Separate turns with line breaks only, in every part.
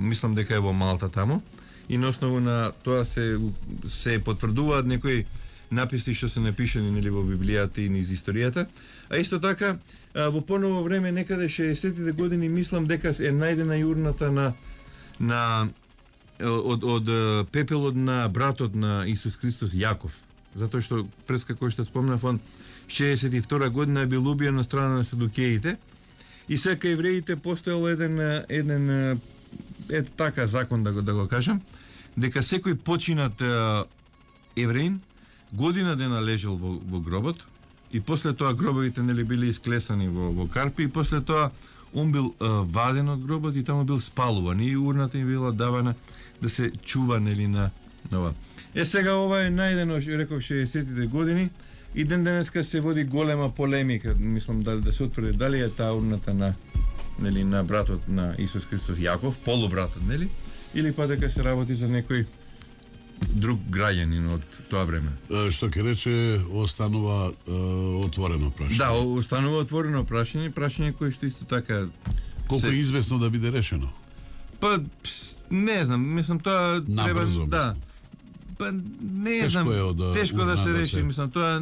мислам дека е во Малта таму, и на основа на тоа се потврдуваат некои написи што се напишани нели во Библијата и низ историјата, а исто така во поново време некаде 60-тите години мислам дека е најдена и урната од пепелот на братот на Исус Христос Јаков, затоа што пред како што спомнав, он 62 година бил убиен на страна на садукеите, и сега евреите постоел еден така закон да го кажам, дека секој починат евреин година дена лежал во гробот, и после тоа гробовите нели били исклесани во карпи, и после тоа он бил ваден од гробот и таму бил спалуван, и урната им била давана да се чува нели на ова. Сега ова е најдено, реков 60-тите години, и ден денеска се води голема полемика, мислам да се утврди дали е таа урната на братот на Исус Христос Јаков, полубратот, нели, или па дека се работи за некој друг граѓанин од тоа време.
Што ќе рече, останува отворено прашање.
Да, останува отворено прашање кое што исто така
колку е известно да биде решено.
Па не знам, мислам тоа треба да. Па не знам, тешко да се реши, мислам тоа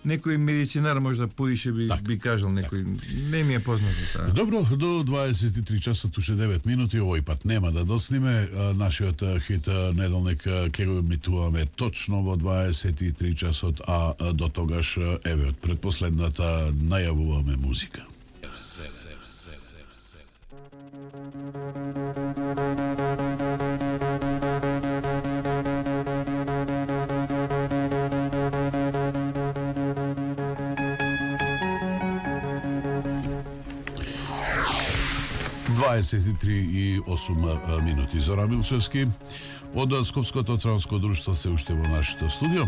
некој медицинар можда поише би кажал некој, не ми е познато тоа.
Добро, до 23 часа туше 9 минути, овој пат нема да доцниме. Нашиот хит неделник ќе го емитуваме точно во 23 часот, а до тогаш еве од предпоследната најавуваме музика. и 8 минути. Зоран Милчевски од Скопското транспортно друштво се уште во нашето студио.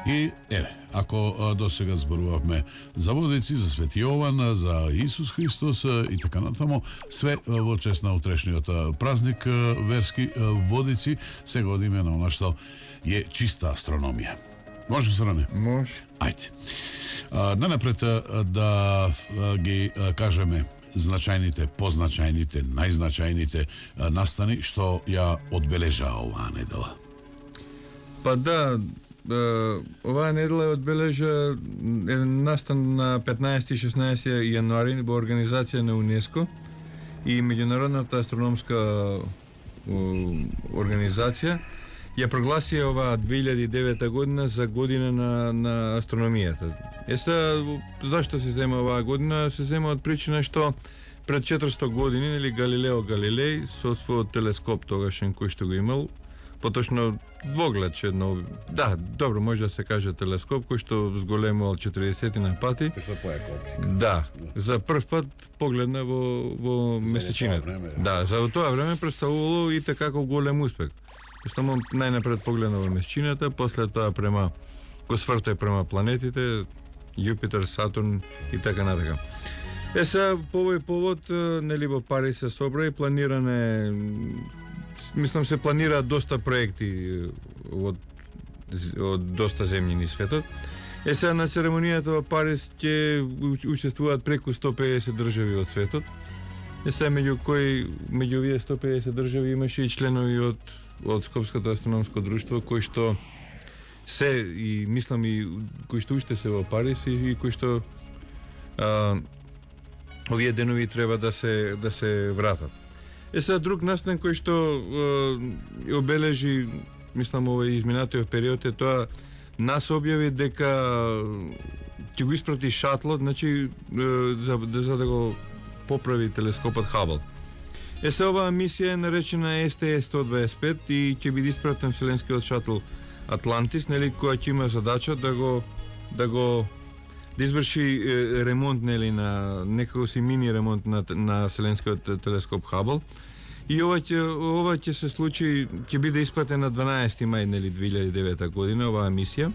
И еве, ако досега зборувавме за водици, за Свети Јован, за Исус Христос и така натаму, све во чест на утрешниот празник верски водици, сега одиме на она што е чиста астрономија. Може, Зоране?
Може.
Ајде. Најнапред да ги кажеме значајните, позначајните, најзначајните настани што ја одбележаа оваа недела.
Па да, оваа недела одбележа настан на 15 и 16 јануари во организација на УНЕСКО и Меѓународната астрономска организација ја прогласија оваа 2009 година за година на астрономијата. Зашто се зема оваа година? Се зема од причина што пред 400 години, нели, Галилео Галилеј со својот телескоп тогашен кој што го имал, поточно двоглед едно, да, добро може да се каже телескоп кој што зголемувал 40 на пати.
Што поека оптика.
Да, за прв пат погледна во месечината. Да, за тоа време представувало и така како голем успех. Само најнапред погледна во месечината, после тоа го сврте према планетите, Јупитер, Сатурн и така натака. Сега по овој повод, нели, во Париз се собра и планиране, мислам се планираат доста проекти од доста земји низ светот. Сега на церемонијата во Париз ќе учествуваат преку 150 држави од светот. Сега меѓу овие 150 држави имаше и членови од Скопското астрономско друштво кои што се и мислам и кои што уште се во Париз и кои што овие денови треба да се вратат. Сега друг настан кој што обележи, мислам, овој изминатиот период е тоа, нас објави дека ќе го испрати шатлот, значи за да го поправи телескопот Хабл. Сега оваа мисија е наречена STS-125 и ќе биде испратен вселенскиот шатл Атлантис, нели, која ќе има задача да изврши ремонт, нели, на некако си мини ремонт на вселенскиот телескоп Хабл. И ова ќе се случи, ќе биде испратен на 12 мај, нели, 2009 година оваа мисија.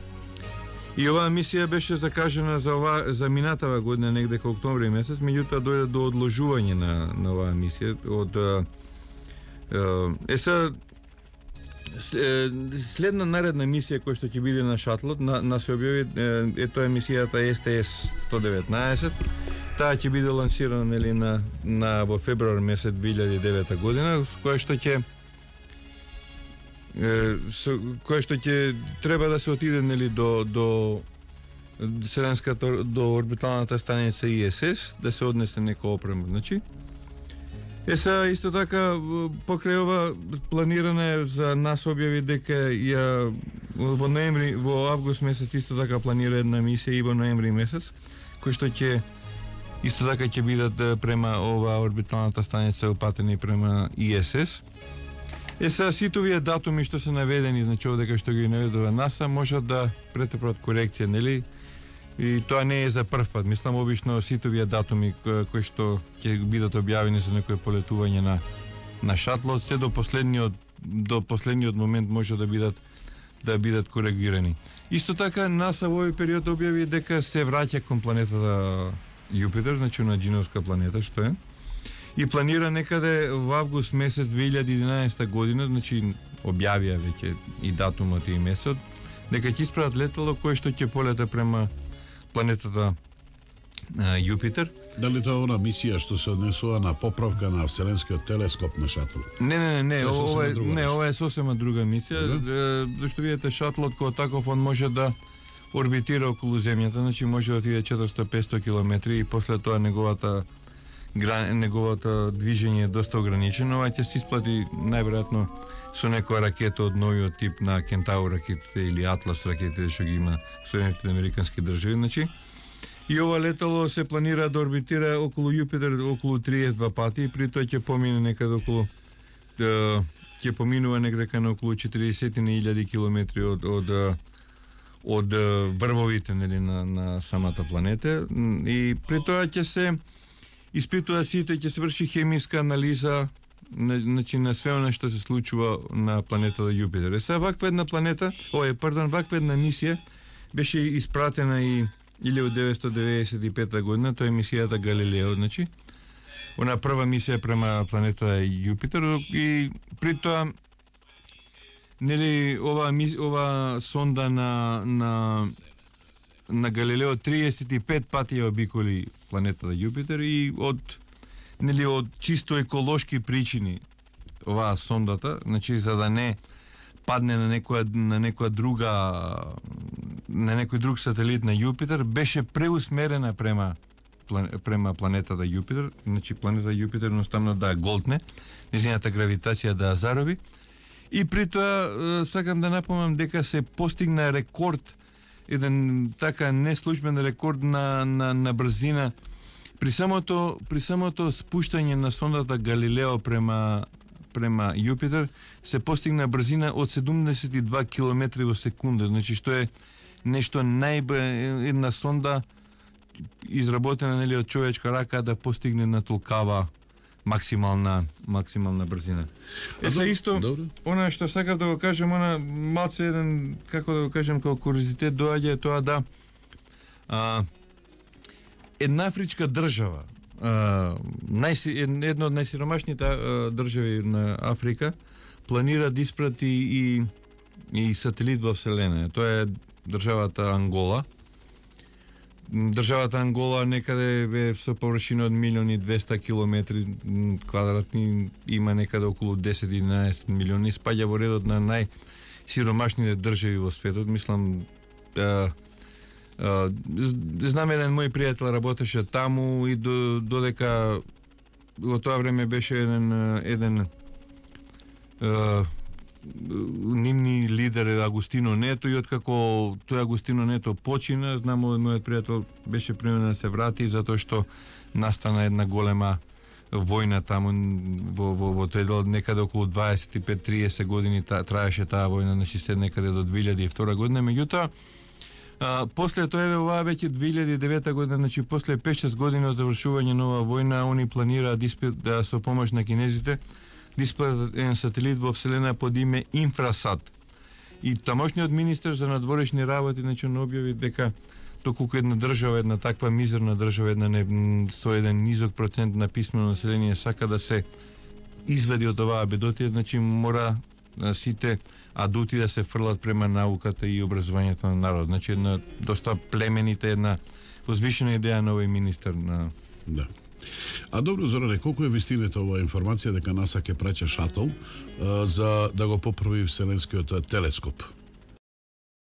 И оваа мисија беше закажана за минатава година, негде кај октомври месец, меѓутоа дојде до одложување на оваа мисија следна наредна мисија која што ќе биде на шатлот, се објави, тоа е мисијата STS-119, Таа ќе биде лансирана нели на во февруар месец 2009 година, кое што ќе треба да се отиде нели до Вселенската, до орбиталната станица ИСС, да се однесе нека опрема, значи. Исто така покрај ова планиране за нас објави дека во август месец исто така планира една мисија и во ноември месец, кој што ќе исто така ќе бидат према ова орбиталната станица опатени према ИСС. Сите овие датуми што се наведени, значи овде што ги наведува НАСА, можат да претрпат корекција, нели? И тоа не е за прв пат. Мислам, обично сите овие датуми кои што ќе бидат објавени за некое полетување на шатлот, се до последниот момент може да бидат коригирани. Исто така НАСА во овој период објави дека се враќа кон планетата Јупитер, значи на Джиновска планета што е. И планира некаде во август месец 2011 година, значи објавија веќе и датумот и месецот, дека ќе испратат летало кое што ќе полета према планетата Јупитер.
Дали тоа она мисија што се однесува на поправка на Вселенскиот телескоп на шатл?
Не, ова е сосема друга мисија, зашто видите шатлот кој таков он може да орбитира околу земјата, значи може да отиде 400-500 километри и после тоа неговото движење е доста ограничено, а ќе се исплати најверојатно со некоја ракета од новиот тип на Кентаур ракетите или Атлас ракетите што ги има Соединетите американски држави, значи. И ова летало се планира да орбитира околу Јупитер околу 32 пати и при тоа ќе помине некаде околу ќе поминува некаде на околу 40.000 километри од врвовите нели на самата планета и при тоа ќе се испитува сите, ќе се врши хемиска анализа значи на све она што се случува на планетата Јупитер. Ваква една мисија беше испратена и 1995 година, тоа е мисијата Галилео, значи. Она прва мисија према планетата Јупитер и при тоа нели ова сонда на Галилео 35 пати ја обиколи планетата Јупитер и од чисто еколошки причини оваа сондата, значи за да не падне на некој друг сателит на Јупитер, беше преусмерена према планетата Јупитер, значи планетата Јупитер едноставно да голтне, незината гравитација да зарови. И при тоа сакам да напомнам дека се постигна рекорд, еден така неслужбен рекорд на брзина при самото спуштање на сондата Галилео према Јупитер се постигна брзина од 72 км во секунда, значи што е нешто една сонда изработена нели од човечка рака да постигне на толкава максимална брзина. Исто, она што сакав да го кажем, она малце еден, како да го кажем, како куриозитет доаѓа тоа да една афричка држава, една од најсиромашните држави на Африка, планира да испрати и сателит во Вселена. Тоа е државата Ангола. Државата Ангола некаде е со површина од 1.200.000 километри квадратни, има некаде околу 10-11 милиони, спаѓа во редот на најсиромашните држави во светот. Мислам, знам еден мој пријател работеше таму и додека во тоа време беше еден нивни лидер Агустино Нето, и откако тој Агустино Нето почина, знам мојот пријател беше примерно да се врати затоа што настана една голема војна таму во тој дел, некаде околу 25-30 години траеше таа војна, значи се некаде до 2002 година. Меѓутоа после тоа оваа веќе 2009 година, значи после 5-6 години од завршување на оваа војна, они планираат да со помош на кинезите да испратат еден сателит во Вселена под име Инфрасат. И тамошниот министер за надворешни работи објави дека доколку една држава, една таква мизерна држава, со еден низок процент на писмено население сака да се извади од оваа бедотија, значи мора сите адути да се фрлат према науката и образованието на народ. Значи една доста племенита, една возвишена идеја на овој министер
Да. А добро, Зоране, колку е вистината оваа информација дека НАСА ќе праќа шатл за да го поправи Вселенскиот телескоп?